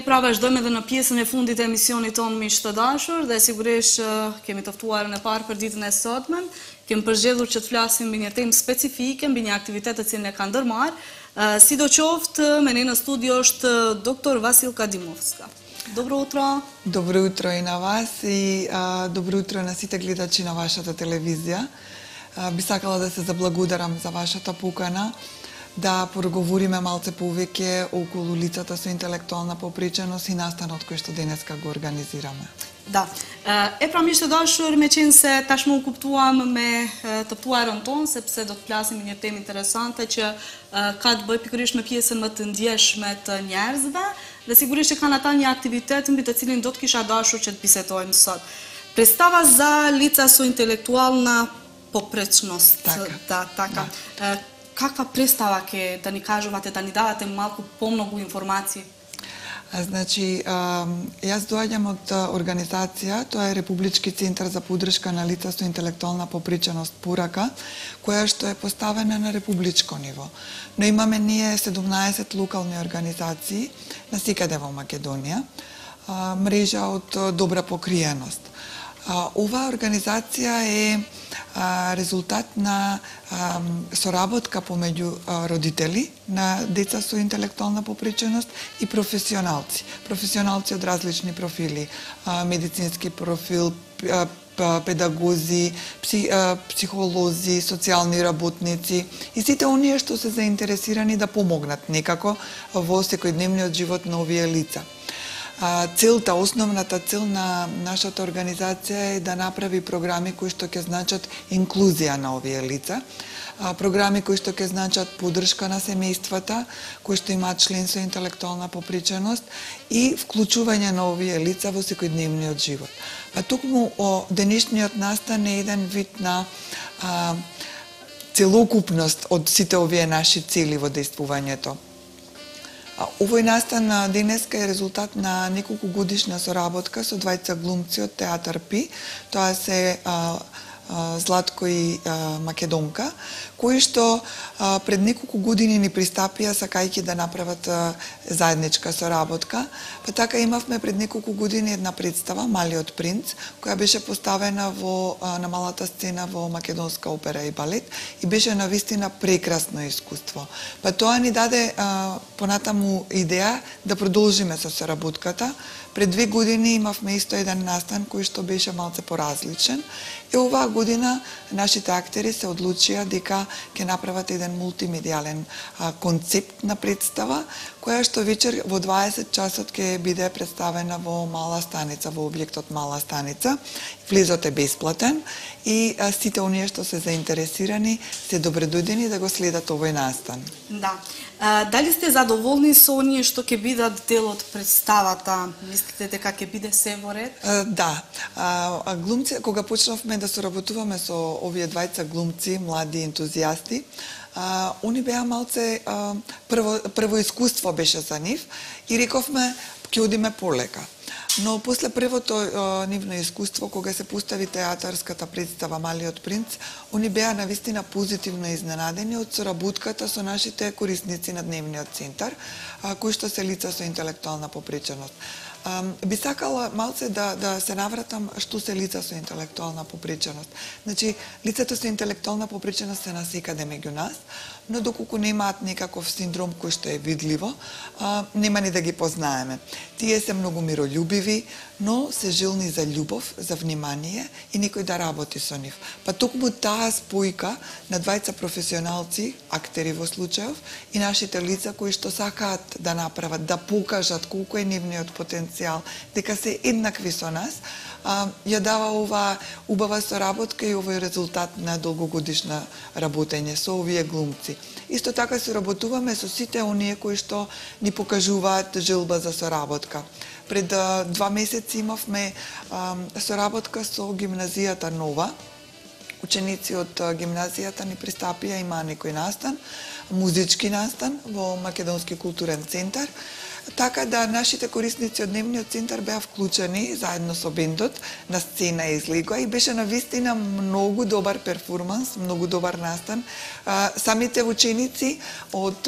pra vazhdojmë edhe në pjesën e fundit e emisionit tonë miq të dashur dhe sigurisht kemi të ftuarën e parë për ditën e sotme. Kemi përgjedhur që të flasim mbi një temë specifike, mbi një aktivitet të cilin e ka ndërmarr. Sidoqoftë, me ne në studio është dr. Василка Димовска. Добро утро. Добро утро и на вас и добро утро на сите гледачи на вашата телевизија. Би сакала да се заблагодарам за вашата покана, да проговориме малце повеќе околу лицата со интелектуална попреченост и настанот кој што денеска го организираме. Da. Pra miq të dashur, me qenë se tashmë u kuptuam me të ftuarën tonë, sepse do të flasim një temë interesante që ka të bëjë pikërisht me pjesën më të ndjeshme të njerëzve, dhe sigurisht që kanë ata një aktivitet mbi të cilin do të kisha dashur që të bisedojmë sot. Predstava za lica su intelektualna popretnost. Така. Каква представа ќе да ни кажувате, да ни давате малку помногу информации? Значи, јас доаѓам од организација, тоа е Републички центар за поддршка на лица со интелектуална попреченост Пурака, која што е поставена на републичко ниво. Но имаме ние 17 локални организации насекаде во Македонија, мрежа од добра покриеност. Оваа организација е резултат на соработка помеѓу родители на деца со интелектуална попреченост и професионалци. Професионалци од различни профили, медицински профил, педагози, психолози, социјални работници и сите оние што се заинтересирани да помогнат некако во секојдневниот живот на овие лица. Целта, основната цел на нашата организација е да направи програми кои што ќе значат инклузија на овие лица, програми кои што ќе значат поддршка на семејствата, кои што имаат член со интелектуална попреченост и вклучување на овие лица во секојдневниот живот. Токму денешниот настан е еден вид на целокупност од сите овие наши цели во действувањето. Овој настан денеска е резултат на неколку годишна соработка со двајца глумци од театар Пи, тоа се Златко и Македонка, кои што пред неколку години ни пристапија сакајќи да направат заедничка соработка. Па така имавме пред неколку години една представа Малиот принц, која беше поставена на малата сцена во Македонска опера и балет и беше навистина прекрасно искуство. Па тоа ни даде понатаму идеја да продолжиме со соработката. Пред 2 години имавме исто еден настан кој што беше малце поразличен. И оваа година нашите актери се одлучија дека ќе направат еден мултимедијален концепт на представа, која што вечер во 20 часот ќе биде представена во Мала станица, во објектот Мала станица. Влезот е бесплатен и сите оние што се заинтересирани се добредојдени да го следат овој настан. Да. Дали сте задоволни со оние што ќе бидат дел од представата? Мислите дека ќе биде се во ред? Да. Глумци, кога почнавме да соработуваме со овие двајца глумци, млади ентузијасти, они беа малце прво искуство беше за нив и рековме ќе одиме полека. Но после првото нивно искуство, кога се постави театарската представа Малиот принц, они беа навистина позитивно изненадени од соработката со нашите корисници на дневниот центар, кои што се лица со интелектуална попреченост. Би сакала малце да се навратам што се лица со интелектуална попреченост. Значи, лицата со интелектуална попреченост се насекаде меѓу нас, но доколку немаат некаков синдром кој што е видливо, нема ни да ги познаеме. Тие се многу мирољубиви, но се жилни за љубов, за внимание и некој да работи со нив. Па токму таа спојка на двајца професионалци, актери во случајов, и нашите лица кои што сакаат да направат, да покажат колку е нивниот потенцијал, дека се еднакви со нас, ја дава оваа убава соработка и овој резултат на долгогодишна работење со овие глумци. Исто така се работуваме со сите оние кои што ни покажуваат желба за соработка. Пред 2 месеци имавме соработка со гимназијата Нова. Ученици од гимназијата ни пристапија, имаа некој настан, музички настан во Македонски културен центар. така да нашите корисници од дневниот центар беа вклучени заедно со бендот на сцена излегоа и беше навистина многу добар перформанс, многу добар настан. Самите ученици од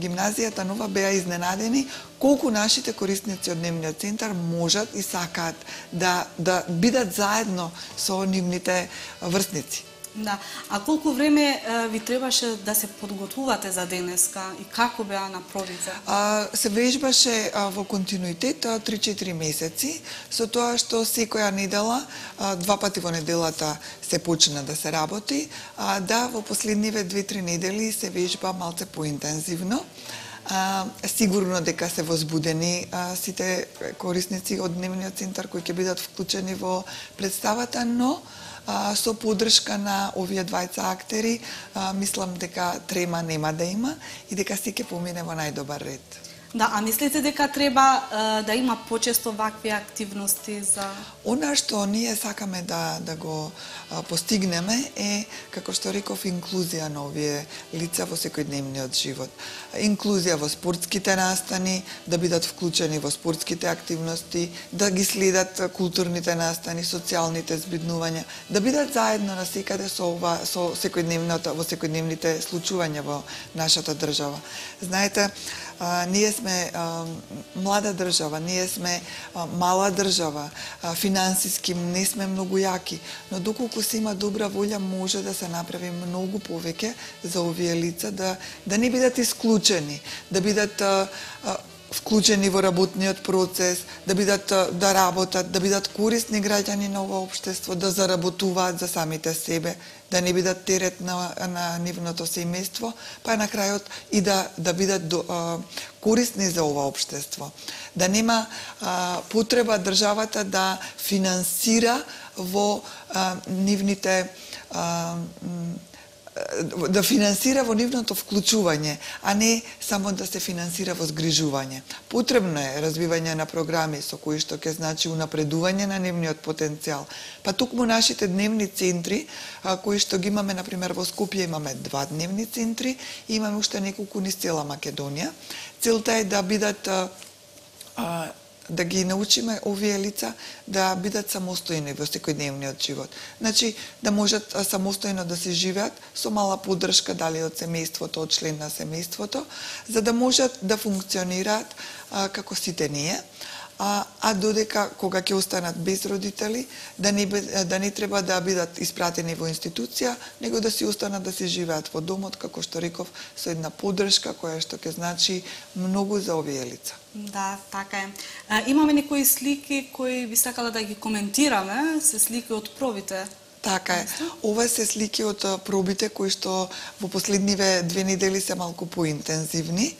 гимназијата Нова беа изненадени колку нашите корисници од дневниот центар можат и сакаат да бидат заедно со нивните врсници. Да. А колку време ви требаше да се подготвувате за денеска и како беа на пробите? Се вежбаше во континуитет 3-4 месеци, со тоа што секоја недела, 2 пати во неделата се почна да се работи, да во последниве 2-3 недели се вежба малце поинтензивно. Сигурно дека се возбудени сите корисници од дневниот центар кои ќе бидат вклучени во представата, но со поддршка на овие двајца актери, мислам дека трема нема да има и дека се ќе помине во најдобар ред. Да, а мислите дека треба да има почесто вакви активности за... Она што ние сакаме да го постигнеме е, како што реков, инклузија на овие лица во секојдневниот живот. Инклузија во спортските настани, да бидат вклучени во спортските активности, да ги следат културните настани, социјалните збиднувања, да бидат заедно насекаде со секојдневните случувања во нашата држава. Знаете, ние сме млада држава, ние сме мала држава, финансиски не сме многу јаки, но доколку се има добра волја, може да се направи многу повеќе за овие лица, да не бидат исклучени, да бидат вклучени во работниот процес, да работат, да бидат корисни граѓани на ова општество, да заработуваат за самите себе, да не бидат терет на нивното семејство, па на крајот и да бидат корисни за ова општество. Да нема потреба државата да финансира во нивните да финансира во нивното вклучување, а не само да се финансира во згрижување. Потребно е развивање на програми со кои што ќе значи унапредување на нивниот потенцијал. Па токму нашите дневни центри, кои што ги имаме, например, во Скопје имаме 2 дневни центри и имаме уште неколку низ цела Македонија. Целта е да бидат да ги научиме овие лица да бидат самостојни во секојдневниот живот. Значи, да можат самостојно да се живеат со мала поддршка, дали од семејството, од член на семејството, за да можат да функционираат како сите ние, а додека кога ќе останат без родители, да не треба да бидат испратени во институција, него да си останат да се живеат во домот, како што реков, со една поддршка која што ќе значи многу за овие лица. Да, така е. Имаме некои слики кои би сакала да ги коментираме, се слики од пробите. Така е. Ова се слики од пробите кои што во последниве 2 недели се малку поинтензивни.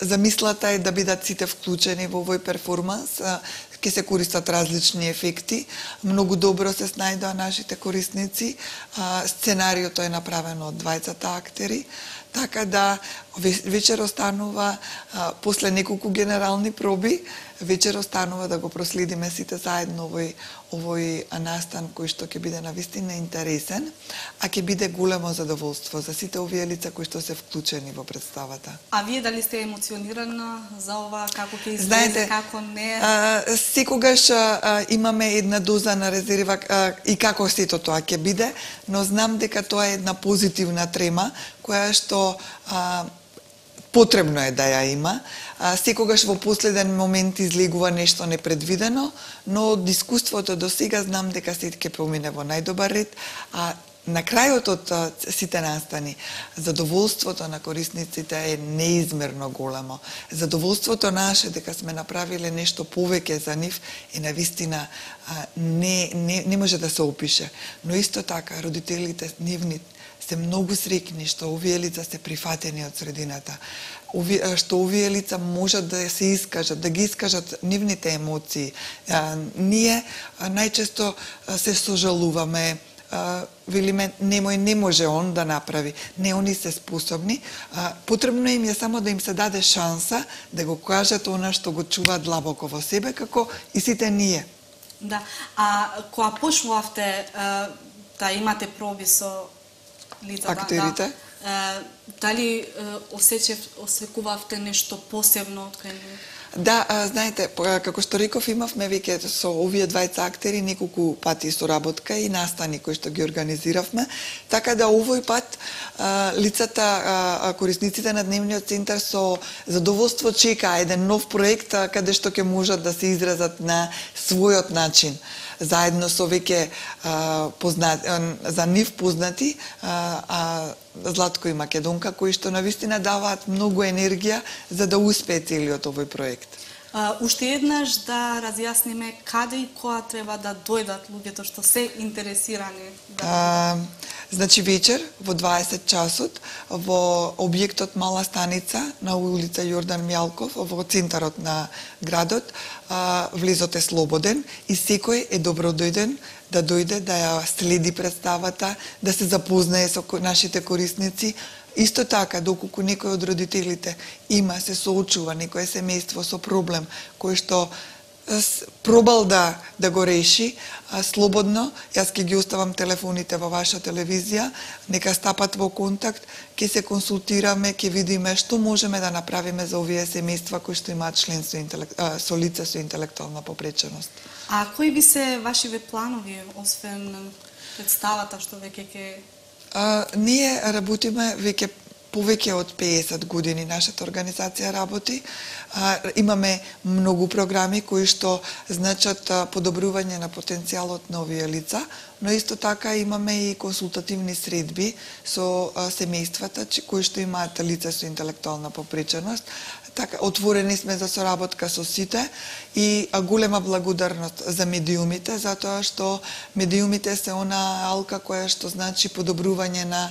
Замислата е да бидат сите вклучени во овој перформанс, ќе се користат различни ефекти, многу добро се снајдоа нашите корисници, сценариото е направено од двајцата актери, така да вечер останува, после неколку генерални проби, вечер останува да го проследиме сите заедно овој настан кој што ќе биде навистина интересен, а ќе биде големо задоволство за сите овие лица кои што се вклучени во представата. А вие дали сте емоционирана за ова, како ќе излезе, како не? Секогаш имаме една доза на резерва и како сето тоа ќе биде, но знам дека тоа е една позитивна трема која што потребно е да ја има. Секогаш во последен момент излегува нешто непредвидено, но од искуството до сега знам дека се ќе помине во најдобар ред, а на крајот од сите настани, задоволството на корисниците е неизмерно големо. Задоволството наше дека сме направиле нешто повеќе за нив е навистина не може да се опише. Но исто така родителите нивни се многу среќни што овие лица се прифатени од средината, што овие лица можат да се искажат, да ги искажат нивните емоции. Ние најчесто се сожалуваме, велиме, немој, не може он да направи. Не, они се способни. Потребно им е само да им се даде шанса да го кажат она што го чуваат длабоко во себе, како и сите ние. Да, а кога почнувавте да имате проби со лицата, актерите? Дали осекувавте нешто посебно од кај нив? Да, знаете, како што реков, имавме веќе со овие двајца актери неколку пати соработка и настани кои што ги организиравме, така да овој пат лицата, корисниците на дневниот центар со задоволство чека еден нов проект каде што ќе можат да се изразат на својот начин, заедно со веќе за нив познати Златко и Македонка, кои што навистина даваат многу енергија за да успее целиот овој проект. Уште еднаш да разјасниме каде и која треба да дојдат луѓето што се интересирани. Значи вечер во 20 часот во објектот Мала станица на улица Јордан Мјалков во центарот на градот, влезот е слободен и секој е добродојден да дојде да ја следи представата, да се запознае со нашите корисници. Исто така, доколку некој од родителите се соочува некое семејство со проблем кој што пробал да го реши, слободно, јас ќе ги оставам телефоните во ваша телевизија, нека стапат во контакт, ќе се консултираме, ќе видиме што можеме да направиме за овие семејства кои што имаат член со лице со интелектуална попреченост. А кои би се вашиве планови, освен представата што веќе ќе... Ние работиме веќе повеќе од 50 години, нашата организација работи. Имаме многу програми кои што значат подобрување на потенцијалот на овие лица, но исто така имаме и консултативни средби со семејствата кои што имаат лице со интелектуална попреченост. Така, отворени сме за соработка со сите и голема благодарност за медиумите, затоа што медиумите се она алка која што значи подобрување на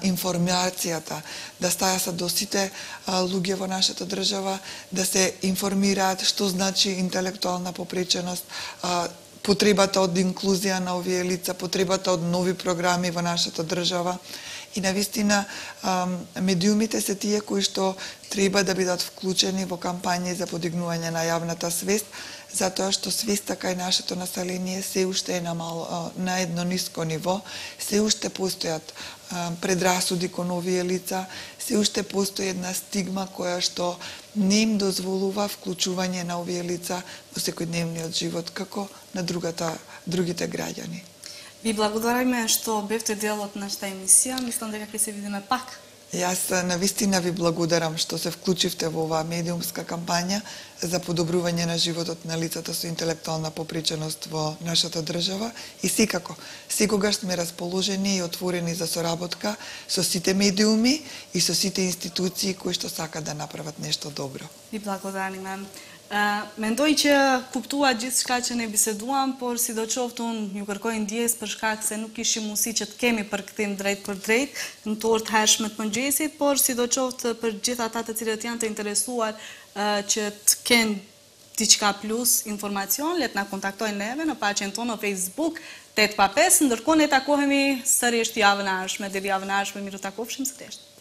информацијата, да стајат до сите луѓе во нашата држава, да се информираат што значи интелектуална попреченост, потребата од инклузија на овие лица, потребата од нови програми во нашата држава. И навистина медиумите се тие кои што треба да бидат вклучени во кампањи за подигнување на јавната свест, затоа што свеста кај нашето население се уште е на едно ниско ниво, се уште постојат предрасуди кон овие лица, се уште постои една стигма која што не им дозволува вклучување на овие лица во секојдневниот живот како на другите граѓани. Ви благодариме што бевте дел од нашата емисија. Мислам дека ќе се видиме пак. Јас навистина ви благодарам што се вклучивте во оваа медиумска кампања за подобрување на животот на лицата со интелектуална попреченост во нашата држава и секако, секогаш сме расположени и отворени за соработка со сите медиуми и со сите институции кои што сакаат да направат нешто добро. Ви благодариме. Мендој që kuptua gjithçka që ne biseduam, por sidoqoftë ju kërkoj ndjes për shkak se nuk kishim mundësi që të kemi përkthim drejt për drejt në të orë të hershme të mëngjesit, por sidoqoftë për gjithë ata të cilët janë të interesuar që të kenë diçka plus informacion, le të na kontaktojnë neve në faqen tonë në Facebook 8 pa 5, ndërkohë ne takohemi sërish javën e ardhshme, deri javën e ardhshme miru takofshim sërish.